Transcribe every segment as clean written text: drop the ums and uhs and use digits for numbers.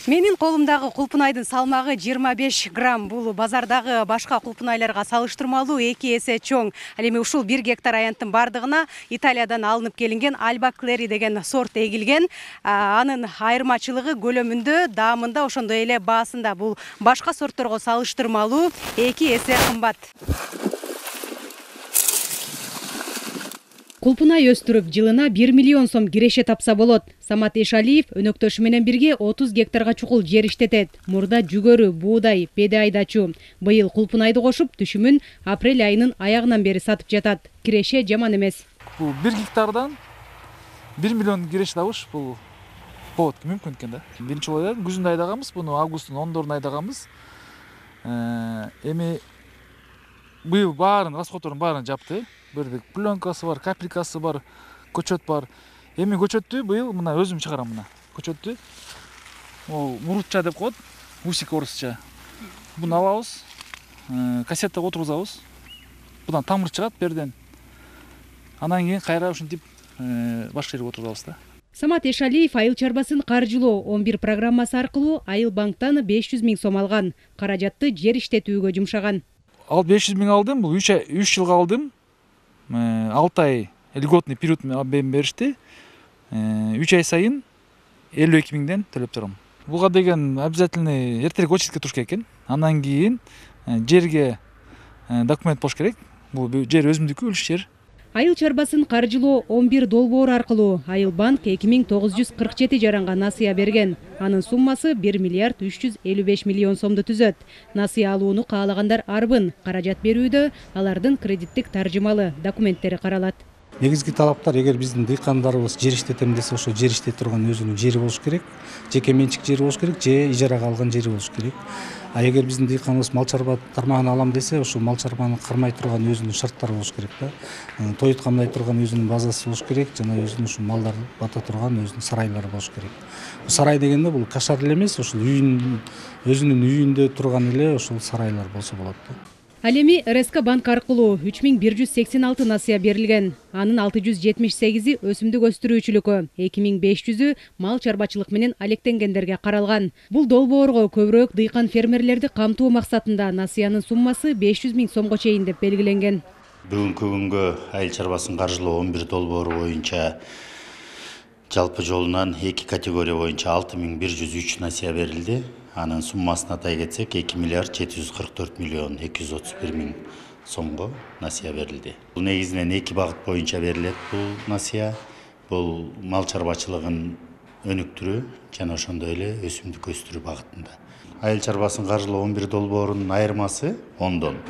Менин колумдагы кулпунайдын салмагы 25 грамм. Бул базардагы башка кулпунайларга салыштырмалуу 2 эсе чоң. Ал эми ушул 1 гектар аянттын бардыгына Италиядан алынып келинген Alba Clary деген сорт эгилген. Анын айырмачылыгы көлөмүндө, даамында, ошондой эле баасында. Бул башка сортторго салыштырмалуу 2 эсе кымбат. Кулпунай өстүрүп, жылына 1 миллион сом киреше тапса болот. Самат Эшалиев өнөктөшү менен бирге 30 гектарга чукул жер иштетет. Мурда жүгөрү, буудай, беде айдачу. Быйыл кулпунайды кошуп, түшүмүн апрель айынын аягынан бери сатып жатат. Киреше жаман эмес. Бул 1 гектардан 1 миллион киреше табыш бул болот, мүмкүн экен да. Биринчи жолу күзүндө айдаганбыз, буну августтун 14-уна айдаганбыз. Эми быйыл расходтордун баарын жапты. Бирдик пленкасы бар, капелькасы бар, көчөт бар. Эми көчөттү быйыл мына өзүм чыгарам мына. Көчөттү. Ол мурутча деп коет, усик орусча. Буну алабыз, кассетага отургузабыз. Будан тамыр чыгат берден. Анан кийин кайра ушинтип башка жерге отургузабыз да. Самат Эшалиев айыл чарбасын каржылоо 11 программасы аркылуу Айыл банктан 500 000 сом алган. Каражатты жер иштетүүгө жумшаган. Ал 500 000 алдым, бул 3 жылга алдым. 6 ай льготный период беришти. 3 ай сайын 52 000ден төлөп турам. Буга деген обязательный эртерээк очередке туруш керек экен. Андан кийин жерге документ болуш керек. Бул жер өзүмдүкү, үлүш жер. Айыл чарбасын каржылоо 11 долбоор аркылуу Айыл банк 2947 жаранга насыя берген. Анын суммасы 1 миллиард 355 миллион сомду түзөт. Насыя алууну каалагандар арбын. Каражат берүүдө алардын кредиттик таржымалы документтери каралат. Негизги талаптар, эгер биздин дыйкандарыбыз жер иштетем десе, ошо жер иштете турган өзүнүн жери болуш керек, жеке менчик жери болуш керек, же ижарага алган жери болуш керек. А эгер биздин дыйканыбыз мал чарба тармагын алам десе, ошо мал чарбаны кармай турган өзүнүн шарттары болуш керек да. Тоют камдай турган өзүнүн базасы болуш керек, жана өзүнүн ушу малдарды бата турган өзүнүн сарайлары болуш керек. Сарай дегенде бул кашар эле эмес, ушул өзүнүн үйүндө турган эле ошол сарайлар болсо болот да. Ал эми РСК банк аркылуу 3186 насыя берилген. Анын 678-и өсүмдүк өстүрүүчүлүккө, 2500-ү мал чарбачылык менен алектенгендерге каралган. Бул долбоорго көбүрөөк дыйкан фермерлерди камтуу максатында насыянын суммасы 500 000 сомго чейин деп белгиленген. Бүгүнкү күнгө айыл чарбасын каржылоо 11 долбоору боюнча жалпы жолунан 2 категория боюнча 6103 насыя берилди. Анын суммасын атай кетсек 2 миллиард 744 миллион 231 000 сомго насыя берилди. Бул негизинен 2 багыт боюнча берилет бул насыя. Бул мал чарбачылыгын өнүктүрүү жана ошондой эле өсүмдүк өстүрүү багытында. Айыл чарбасын каржылоо 11 долбоорунун айырмасы 10дон.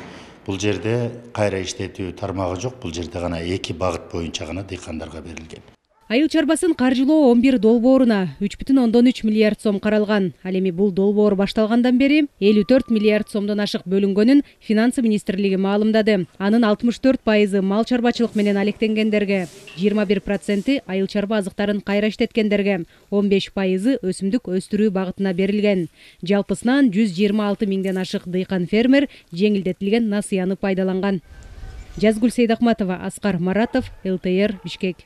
Бул жерде кайра иштетүү тармагы жок, бул жерде гана 2 багыт боюнча гана дыйкандарга берилген. Айыл чарбасын каржылоо 11 долбооруна 3,3 миллиард сом каралган. Ал эми бул долбоор башталгандан бери 54 миллиард сомдон ашык бөлүнгөнүн Финансы министрлиги маалымдады. Анын 64% мал чарбачылык менен алектенгендерге, 21% айыл чарба азыктарын кайра иштеткендерге, 15% өсүмдүк өстүрүү багытына берилген. Жалпысынан 126 000ден ашык дыйкан фермер жеңилдетилген насыяны пайдаланган. Жазгүл Сейдахматова, Аскар Маратов, ЛТР, Бишкек.